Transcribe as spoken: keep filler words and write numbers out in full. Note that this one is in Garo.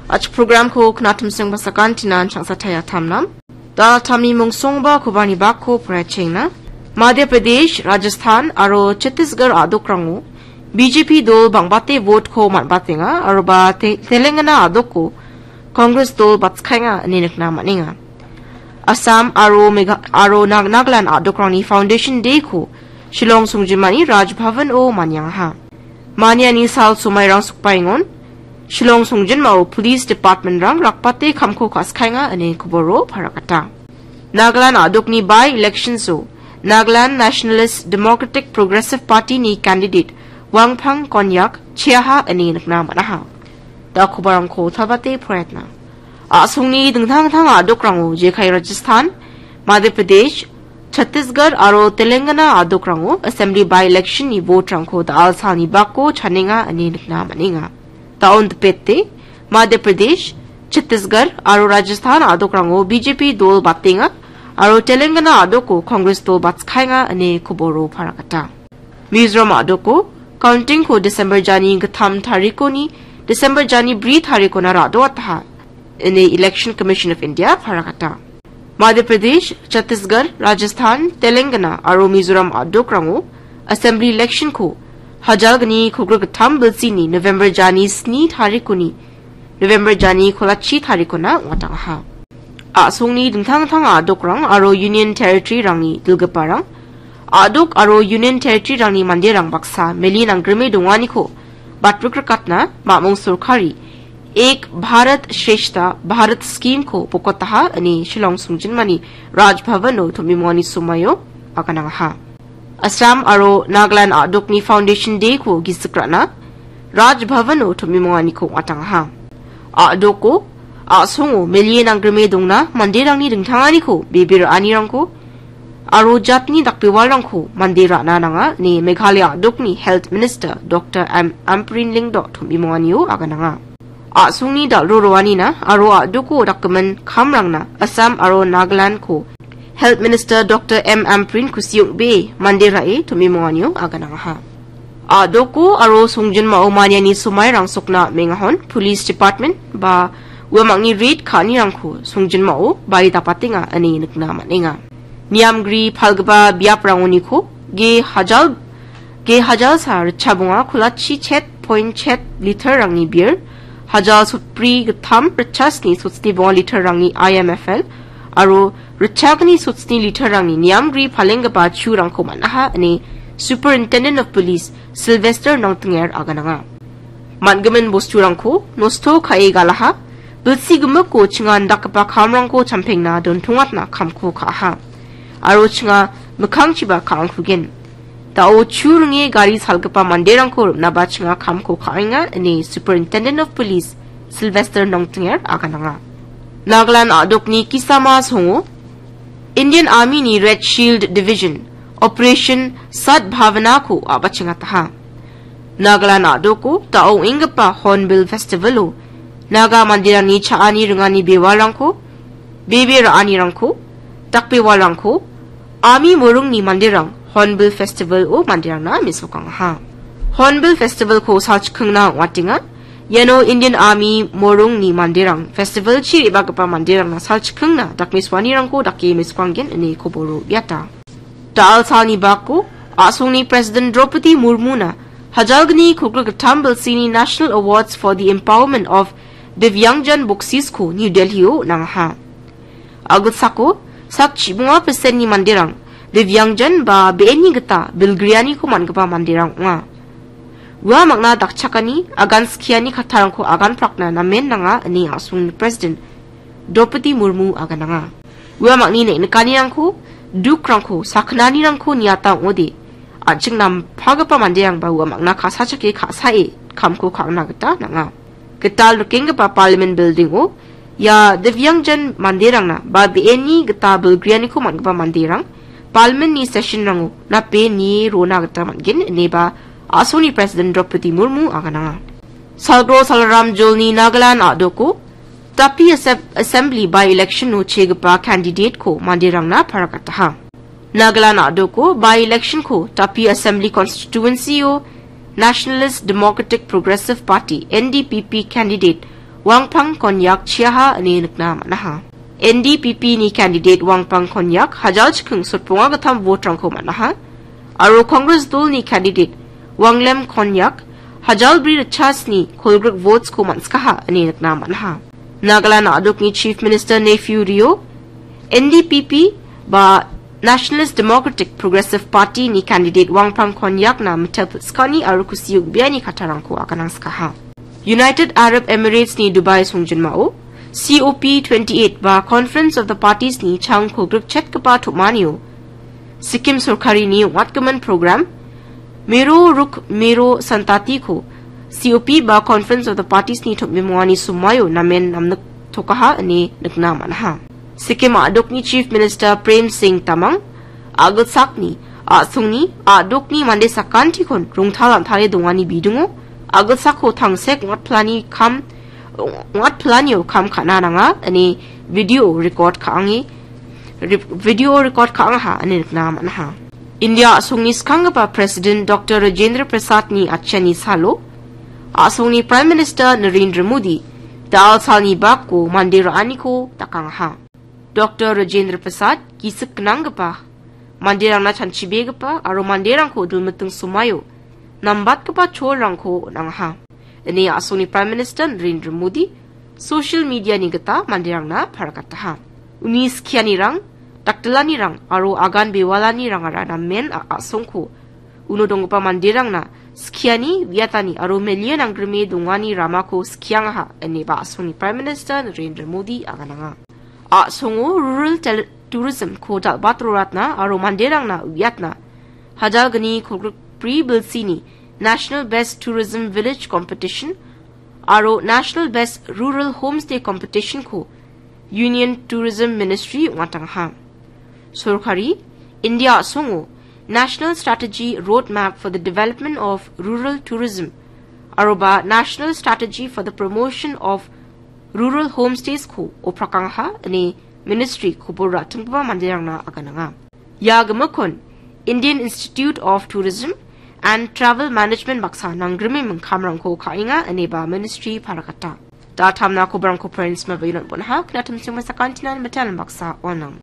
Achi programko knatimseng basakan tinan changsa taya tamnam. Dal tami mungsongba kobarni bakko poraichengna. Madhya Pradesh, Rajasthan aro Chhattisgarh a·dokrango B J P dol bangbate vote-ko man·batenga aroba Te-, Telangana a·dokko Congress dol batskaenga ine nikna man·enga. Assam aro Megha-, aro Nag-, Nagaland a·dokrangni Foundation Day-ko Shillong songjinmani Raj Bhavan-o maniangaha. Maniani sal somairang sokbaengon, Shillong songjinmao Police Department-rang rakbate kamko ka·skaenga ine koboro paragata. Nagaland a·dokni by-elections-o Nagaland Nationalist Democratic Progressive Party-ni candidate Wangpang Konyak cheaha ine nikna man·aha. Da kobarangko tabate poraiatna. A·songni dingtang dingtang a·dokrango jekai Rajasthan, Madhya Pradesh, Chhattisgarh aro Telangana a·dokrango Assembly by-election-ni vote-rangko da·al salni bako chanenga ine nikna man·enga. Da·on dipete, Madhya Pradesh, Chhattisgarh aro Rajasthan a·dokrango B J P dol batenga aro Telangana a·doko Congress dol batskaenga ine koboro paragata. Mizoram a·doko counting-ko December jani gittam tarikoni December jani bri tarikona ra·doataha ine Election Commission of India paragata. Madhya Pradesh, Chhattisgarh, Rajasthan, Telangana aro Mizoram a·dokrango Assembly election-ko hajalgni kolgrik gittam bilsini November jani sni tarikoni November jani kolachi tarikona ong·atangaha. A·songni dingtang dingtang a·dokrang aro Union Territory-rangni dilgiparang, a·dok aro Union Territory-rangni manderang baksa meli nanggrime donganiko batrikrikatna mamung sorkari Ek Bharat Shrestha Bharat Scheme-ko bokotaha ine Shillong songjinmani Raj Bhavan-o tom·imongani somaio aganangaha. Assam aro Nagaland a·dokni Foundation Day-ko gisik ra·na Raj Bhavan-o tom·imonganiko ong·atangaha. A·doko a·songo melie nanggrime dongna manderangni dingtanganiko bebe ra·anirangko aro jatni dakbewalrangko mande ra·na nanga ine Meghalaya a·dokni Health Minister Doctor M Ampareen Lyngdoh tom·imonganio agananga. A·songni dal·ro roanina aro a·doko dakgimin kamrangna Assam aro Nagaland-ko Health Minister Doctor M Ampareen kusi ong·bee mande ra·e tom·imonganio aganangaha. A·doko aro songjinmao maniani somairang sokna mengahon Police Department ba uamangni raid ka·anirangko songjinmao bari dapatenga ine nikna man·enga. Niamgri palgipa biaprangoniko ge hajal, ge hajalsa ritchabonga kolachi chet point chet liter-rangni beer, hajal sotbri gittam ritchasni sotsni bonga liter-rangni I M F L, aro ritchagni sotsni liter-rangni niamgri palenggipa churangko man·aha ine Superintendent of Police Sylvester Nongthinger agananga. Man·gimin bosturangko nosto ka·e galaha, bilsi gimikko chinga indakgipa kamrangko champengna dontongatna kamko ka·aha. Aro chinga mikkangchiba ka·angkugen. Da·o chu ringe gari salgipa manderangko rim·naba chinga kamko ka·enga ine Superintendent of Police Sylvester Nongthinger agananga. Nagaland a·dokni Kisama songo Indian Army-ni Red Shield Division Operation Sadbhavana-ko a·bachengataha. Nagaland a·doko da·o ong·enggipa Hornbill Festival-o Naga manderangni cha·ani ringani bewalrangko, bebe ra·anirangko, dakbewalrangko, Army morungni manderang Hornbill Festival-o manderangna mesokangaha. Hornbill Festival-ko salchikkingna ong·atenga. Iano Indian Army morungni manderang festival-chi re·bagipa manderangna salchikkingna dakmesoanirangko dake mesokanggen ine koboro uiata. Da·al salni bako a·songni President Draupadi Murmuna hajalgni kolgrik gittam bilsini National Awards for the Empowerment of Divyangjan Boksisko New Delhi-o nangaha. Agilsako sak chibonga percent-ni manderang Divyangjan ba be·enni gita bilgrianiko man·gipa manderang ong·a. Ua mangna dakchakani, agan skiani kattarangko agan prakna namen nanga ine a·songni President Draupadi Murmu agananga. Ua mangni neng·nikanirangko, dukrangko, sakgnanirangko niata ong·ode, an·ching nampagipa manderangba ua mangna ka·sachake ka·sae kamko ka·angna gita nanga. Gital rikenggipa Parliament Building-o ia Divyangjan manderangna ba be·enni gita bilgrianiko man·gipa manderang Parliament-ni session-rango nape nie rona gita man·gen ineba a·songni President Draupadi Murmu agananga. Salgro Salaram Jolni Nagaland a·doko Tapi Asem-, Assembly by-election-o chegipa candidate-ko manderangna paragataha. Nagaland a·doko by-election-ko Tapi Assembly Constituency-o Nationalist Democratic Progressive Party, N D P P, candidate Wangpang Konyak chiaha ine nikna man·aha. N D P P ni candidate Wangpang Konyak hajal chiking sotbonga gittam vote-rangko man·aha. Aro Congress dolni candidate Wanglem Konyak hajal bri ritchasni kolgrik votes-ko man·sikaha ine nikna man·aha. Nagaland a·dokni Chief Minister Neiphiu Rio, N D P P ba Nationalist Democratic Progressive Party ni candidate Wangpang Konyakna mitel pil·skani aro kusi ong·beani kattarangko aganangsikaha. United Arab Emirates ni Dubai songjinmao C O P twenty-eight ba Conference of the Parties ni chang kolgrik chetgipa tom·anio Sikkim sorkarini ong·atgimin program Mero Ruk Mero Santatiko C O P ba Conference of the Parties ni tom·bimongani somoio namen namniktokaha ine nikna man·aha. Sikkim a·dokni Chief Minister Prem Singh Tamang a·gilsakni a·songni a·dokni mande sakantikon rongtal an·tale dongani bidingo a·gilsako tangsek ong·atpilani kam ong·atpilanio kam ka·na nanga ine video record ka·ange re-, video record ka·angaha ine nikna man·aha. India a·songni skanggipa President Doctor Rajendra Prasadni atchiani salo a·songni Prime Minister Narendra Modi da·al salni bako mande ra·aniko dakangaha. Doctor Rajendra Prasad gisik gnanggipa, manderangna chanchibegipa aro manderangko dulmiting somaio nambatgipa cholrangko on·angaha. Ine a·songni Prime Minister Narendra Modi social media-ni gita manderangna pargataha. Uni skianirang, daktilanirang aro agan bewalanirangara namen a-, a·songko uno donggipa manderangna skiani, uiatani aro melian anggrime dongani ramako skiangaha, ineba a·songni Prime Minister Narendra Modi agananga. A·songo rural tel-, tourism-ko dal·bat roratna aro manderangna uiatna hajalgni kolgrikbri bilsini National Best Tourism Village Competition aro National Best Rural Homestay Competition-ko Union Tourism Ministry ong·atangaha. Sorkari India a·songo National Strategy Roadmap for the Development of Rural Tourism aroba National Strategy for the Promotion of Rural Homestays-ko oprakangaha ine ministry kobor ra·tinggipa manderangna agananga. Ia gimikkon Indian Institute of Tourism and Travel Management baksa nanggrime mingkamrangko ka·enga ineba ministry paragata. Da·tamna koborangko points mabailon bonaha knatim singma sakantinan metan baksa onang.